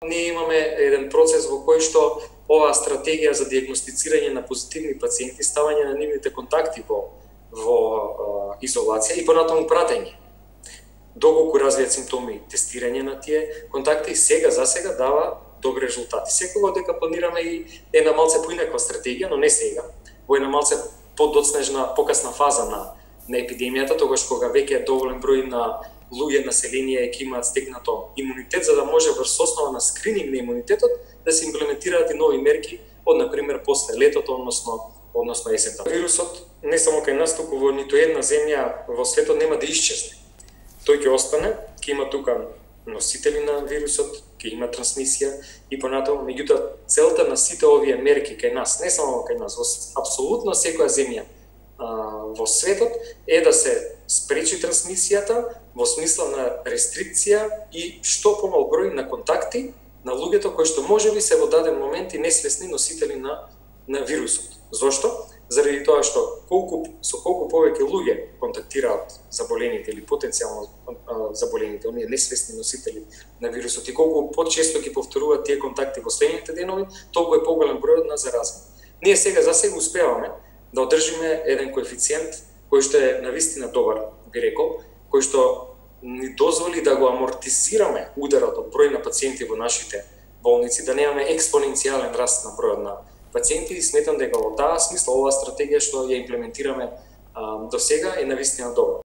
ние имаме еден процес во кој што оваа стратегија за диагностицирање на позитивни пациенти, ставање на нивните контакти во изолација и понатаму пратење. Доколку развијат симптоми, тестирање на тие контакти и сега дава добри резултати. Секогаш дека планираме и една малце поинаква стратегија, но не сега, во една малце подоцнежна, покасна фаза на епидемијата, тогаш кога веќе доволен број на луѓе, население ќе имаат стегнато имунитет, за да може врз основа на скрининг на имунитетот да се имплементираат и нови мерки од, например, после летото, односно есента. Вирусот не само кај нас, туку во ниту една земја во светот нема да исчезне. Тој ќе остане, ќе има тука носители на вирусот, ќе има трансмисија и понатаму, меѓутоа целта на сите овие мерки кај нас, не само кај нас, во апсолутно секоја земја во светот е да се спречи трансмисијата во смисла на рестрикција и што помал број на контакти на луѓето кои што можеби се во даден момент и несвесни носители на вирусот. Зошто? Заради тоа што со колку повеќе луѓе контактираат заболените или потенцијално заболените, оние несвесни носители на вирусот и колку почесто ги повторуваат тие контакти во следните денови, толку е поголем бројот на заразени. Ние сега успеваме да одржиме еден коефициент кој што е навистина добар, би рекол, кој што ни дозволи да го амортизираме ударот од број на пациенти во нашите болници, да немаме експоненцијален раст на бројот на пациенти и сметам дека во таа смисла оваа стратегија што ја имплементираме до сега е навистина добра.